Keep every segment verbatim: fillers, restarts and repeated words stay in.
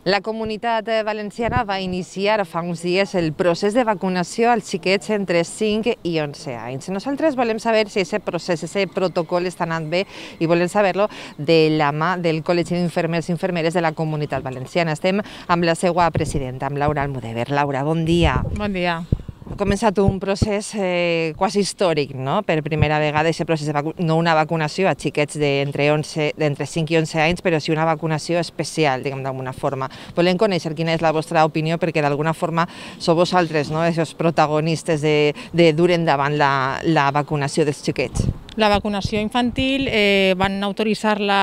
La Comunitat Valenciana va iniciar fa uns dies el procés de vacunació als xiquets entre cinc i onze anys. Nosaltres volem saber si aquest procés, aquest protocol està anant bé i volem saber-lo de la mà del Col·legi d'Infermers i Infermeres de la Comunitat Valenciana. Estem amb la seva presidenta, amb Laura Almudever. Laura, bon dia. Bon dia. Ha començat un procés eh, quasi històric, no? Per primera vegada, aquest procés de vacunació, no una vacunació a xiquets d'entre cinc i onze anys, però sí una vacunació especial, diguem d'alguna forma. Volem conèixer quina és la vostra opinió, perquè d'alguna forma sou vosaltres, no?, els protagonistes de, de dur endavant la, la vacunació dels xiquets. La vacunació infantil eh, van autoritzar la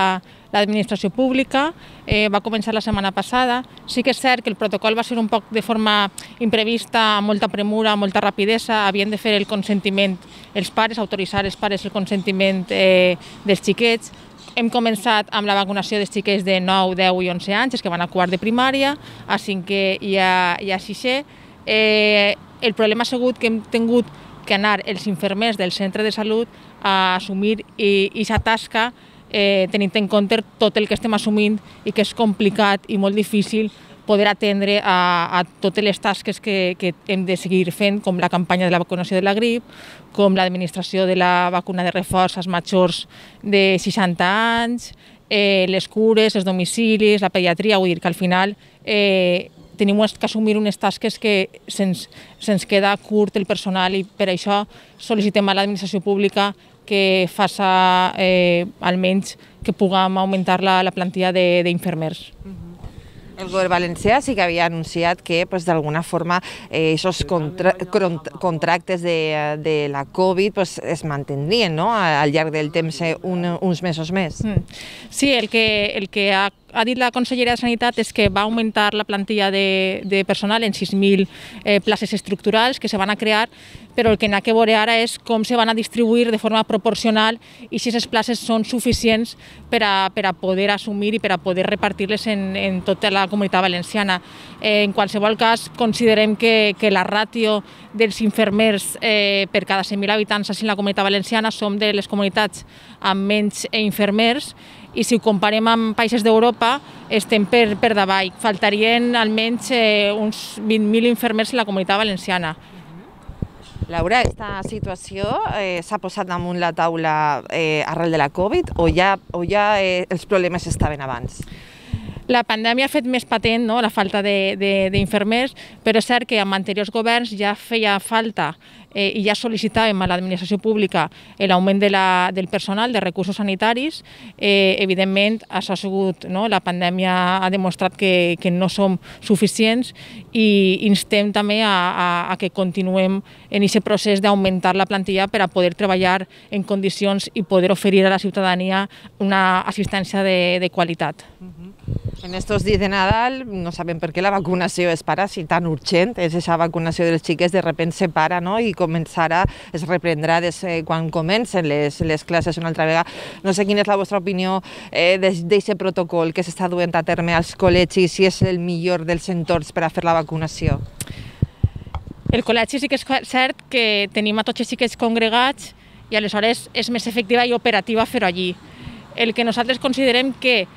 l'administració pública, eh, va començar la setmana passada. Sí que és cert que el protocol va ser un poc de forma imprevista, amb molta premura, amb molta rapidesa. Havien de fer el consentiment els pares, autoritzar els pares el consentiment eh, dels xiquets. Hem començat amb la vacunació dels xiquets de nou, deu i onze anys, els que van a quart de primària, a cinquè i a, i a sisè. Eh, el problema ha sigut que hem tingut que anar els infermers del centre de salut a assumir aquesta tasca, eh, tenint en compte tot el que estem assumint i que és complicat i molt difícil poder atendre a, a totes les tasques que, que hem de seguir fent, com la campanya de la vacunació de la grip, com l'administració de la vacuna de reforç als majors de seixanta anys, eh, les cures, els domicilis, la pediatria. Vull dir que al final eh, tenim que assumir unes tasques que se'ns se'ns queda curt el personal i per això sol·licitem a l'administració pública que faça eh, almenys que puguem augmentar la, la plantilla d'infermers. El govern valencià sí que havia anunciat que d'alguna forma aquests contractes de, de la Covid pues, es mantindrien, no?, al llarg del temps un, uns mesos més. Sí, el que, el que ha, ha dit la consellera de Sanitat és que va augmentar la plantilla de, de personal en sis mil eh, places estructurals que se van a crear, però el que n'ha que veure ara és com se van a distribuir de forma proporcional i si aquestes places són suficients per a, per a poder assumir i per a poder repartir-les en, en tota la Comunitat Valenciana. Eh, en qualsevol cas, considerem que, que la ràtio dels infermers eh, per cada cent mil habitants en la Comunitat Valenciana som de les comunitats amb menys infermers i si ho comparem amb països d'Europa estem per, per davall. Faltarien almenys eh, uns vint mil infermers en la Comunitat Valenciana. Laura, aquesta situació eh, s'ha posat damunt la taula eh, arrel de la Covid o ja, o ja eh, els problemes estaven abans? La pandèmia ha fet més patent, no?, la falta d'infermers, però és cert que amb anteriors governs ja feia falta eh, i ja sol·licitàvem a l'administració pública l'augment de la, del personal, de recursos sanitaris. Eh, evidentment, això ha sigut, no?, la pandèmia ha demostrat que, que no som suficients i instem també a, a, a que continuem en aquest procés d'augmentar la plantilla per a poder treballar en condicions i poder oferir a la ciutadania una assistència de, de qualitat. En estos dies de Nadal no sabem per què la vacunació es para, si tan urgent és aquesta vacunació dels xiquets, de repente se para, no?, i començarà, es reprendrà des, eh, quan comencen les, les classes una altra vegada. No sé quina és la vostra opinió eh, d'aquest protocol que s'està duent a terme als col·legis, si és el millor dels entorns per a fer la vacunació. El col·legi sí que és cert que tenim a tots els xiquets congregats i aleshores és més efectiva i operativa fer-ho allí. El que nosaltres considerem que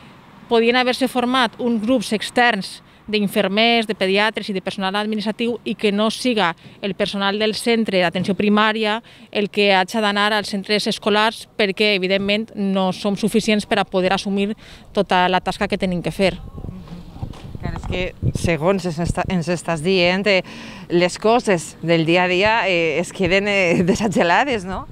podien haver-se format uns grups externs d'infermers, de pediatres i de personal administratiu i que no siga el personal del centre d'atenció primària el que hagi d'anar als centres escolars perquè, evidentment, no som suficients per a poder assumir tota la tasca que tenim que fer. Clar, és que, segons ens estàs dient, eh, les coses del dia a dia eh, es queden eh, desagelades, no?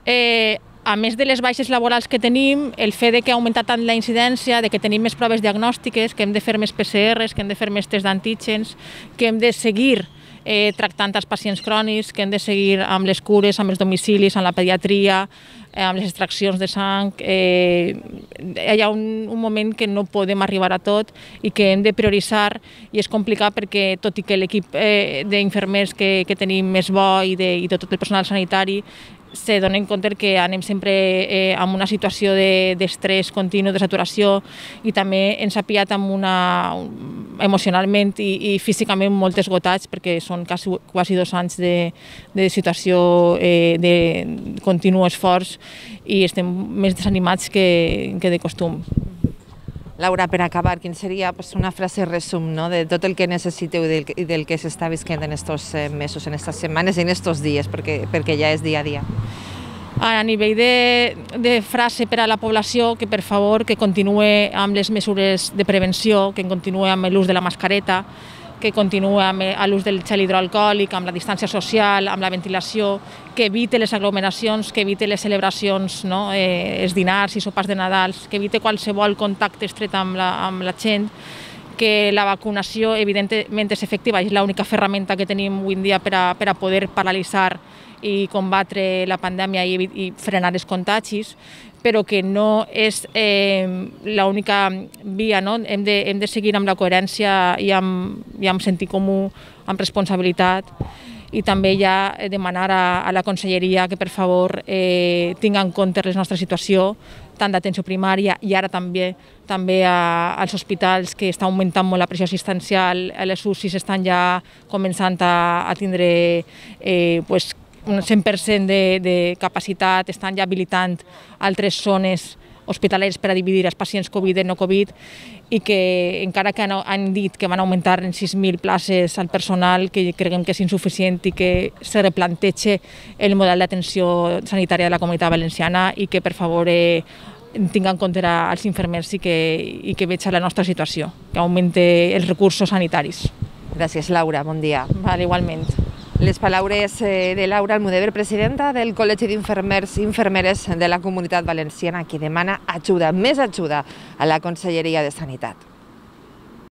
Eh... A més de les baixes laborals que tenim, el fet de que ha augmentat tant la incidència, de que tenim més proves diagnòstiques, que hem de fer més P C Rs, que hem de fer més tests d'antígens, que hem de seguir eh, tractant els pacients crònics, que hem de seguir amb les cures, amb els domicilis, amb la pediatria, eh, amb les extraccions de sang. Eh, hi ha un, un moment que no podem arribar a tot i que hem de prioritzar i és complicat perquè, tot i que l'equip eh, d'infermers que, que tenim és bo i de, i de tot el personal sanitari, se donen compte que anem sempre eh, en una situació d'estrès de, continu, de saturació i també ens ha pillat amb una, emocionalment i, i físicament molt esgotats perquè són quasi, quasi dos anys de, de situació eh, de continu esforç i estem més desanimats que, que de costum. Laura, per acabar, quin seria pues, una frase resum, no?, de tot el que necessiteu i del, i del que s'està visquent en estos eh, mesos, en estas setmanes i en estos dies, perquè, perquè ja és dia a dia. A nivell de, de frase per a la població, que per favor que continuï amb les mesures de prevenció, que continuï amb l'ús de la mascareta, que continuï amb l'ús del gel hidroalcohòlic, amb la distància social, amb la ventilació, que evite les aglomeracions, que evite les celebracions, no? eh, els dinars i sopars de Nadal, que evite qualsevol contacte estret amb la, amb la gent, que la vacunació evidentment és efectiva, és l'única ferramenta que tenim avui en dia per a, per a poder paralitzar i combatre la pandèmia i, i frenar els contagis, però que no és eh, l'única via, no? Hem de, hem de seguir amb la coherència i amb, i amb sentit comú, amb responsabilitat, i també ja demanar a, a la Conselleria que per favor eh, tingui en compte la nostra situació, tant d'atenció primària i ara també també a, als hospitals, que està augmentant molt la pressió assistencial, les U C Is estan ja començant a, a tindre eh, pues, un cent per cent de, de capacitat, estan ja habilitant altres zones hospitaleres per a dividir els pacients Covid i no Covid, i que encara que han dit que van augmentar en sis mil places al personal, que creiem que és insuficient i que se replanteja el model d'atenció sanitària de la Comunitat Valenciana i que per favor eh, tingui en compte els infermers i que, i que veja la nostra situació, que augmente els recursos sanitaris. Gràcies, Laura, bon dia. Vale, igualment. Les paraules de Laura Almudever, presidenta del Col·legi d'Infermers i Infermeres de la Comunitat Valenciana, que demana ajuda, més ajuda a la Conselleria de Sanitat.